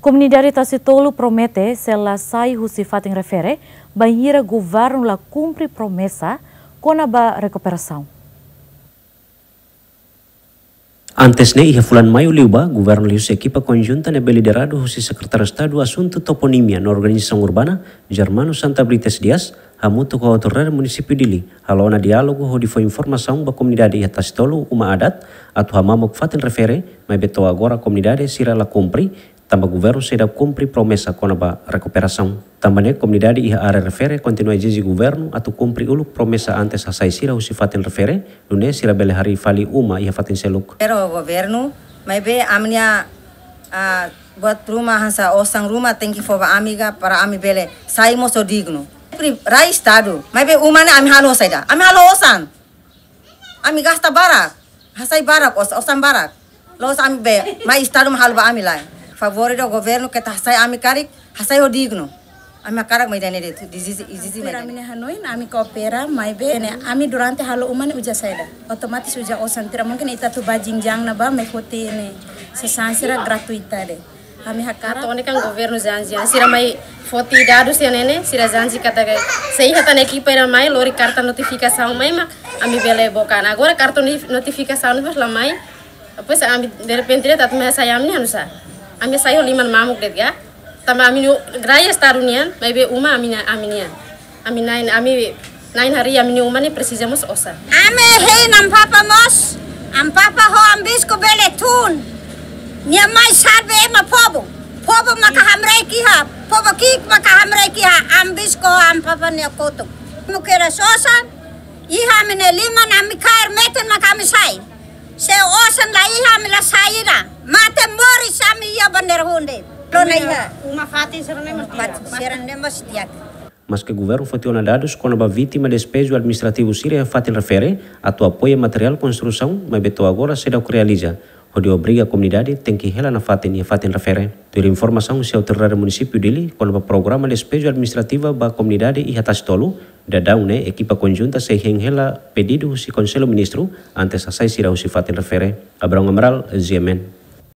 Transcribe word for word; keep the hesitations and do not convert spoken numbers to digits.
Komunidade Tasitolu promete sei la sai husi fatin refere bainhira governu la kumpre promesa kona-ba rekuperasaun. Antes ne'e, iha fulan Maiu liubá, governu liuhusi ekipa konjunta ne'ebé lideradu husi Sekretáriu Estadu Asuntu Toponímia no Organizasaun Urbana, Germano Santa Brites Dias, hamutuk ho autoridade munisípiu Dili, halo ona diálogu hodi fó informasaun ba komunidade iha Tasitolu, uma adat, atu hamamuk fatin refere, maibé to'o agora komunidade sira la kumpre, tanba governu seidauk kumpre promesa kona-ba rekuperasaun. Tanba ne'e komunidade iha área refere kontinua ezije governu atu kumpre uluk promesa antes hasai sira husi fatin refere, nune'e sira bele harii fali uma iha fatin seluk. Pero governu, maibé ami-nia, ah, buat ruma hanesan osan ruma tenke fó ba ami ka para ami bele sai mós ho dignu. Pri-, rai Estadu, maibé uma ne'e ami halo saida? Ami halo osan. Ami gasta barak, hasai barak, os-, osan barak. La'ós ami be, mai Estadu mak halo ba ami lai. Favór ida governu keta hasai ami karik, hasai ho dignu. Ami hakarak mai dane de'it, ezije, ezije mai dane. Ami-nia hanoin, ami koopera, maibé ne'e, ami durante halo uma ne'e uza saida. Otomatis uza osan, tidak mungkin ita atu bá jinjang ne'ebá mai foti ne'e sasán sira gratuita de'it. Ami hakarak. Atu ne'e kan governu janji, sira mai foti dadus iha ne'e ne'e, sira janji katak sei iha tan ekipa ida mai lori karta notifikasaun mai mak ami bele book an. Agora karta nif-, notifikasaun ne'e la mai. Depois ami derrepente de'it atu mai hasai ami-nia osan. Ami hasai ho liman mamuk de'it ka. Tanba ami-nia rai Estadu nian, maibé uma ami-nia, ami-nian. Ami na'in, ami na'in harii ami-nia uma ne'e presiza mós osan. Ami hein Amu Papa mós, Amu Papa ho Amu Bispu bele tun. Nia mai salva ema povu. Povu maka hamriik iha, povu ki'ik maka hamriik iha, Amu Bispu ho Amu Papa nia kotuk. Ami kedas osan, iha ami-nia liman, ami kaer metin maka ami sai. Se osan la iha ami la sai ida. Mate moris ami iha bandeira hunde. Lona iha. Uma fatin sira-ne'e mós di'ak. Uma fatin sira-ne'e mós di'ak. Maske governu foti ona dadus kona-ba vítima despeju administrativu sira iha fatin refere atu apoia materiál konstrusaun, maibé to'o agora seidauk realiza, hodi obriga komunidade tenke hela nafatin iha fatin refere. Tuir informasaun husi autoridade munisípiu Dili kona-ba programa despeju administrativu ba komunidade iha Tasitolu, daudaun ne'e ekipa konjunta sei hein hela pedidu husi Konsellu Ministru antes hasai sira husi fatin refere. Abrão Amaral, G M N.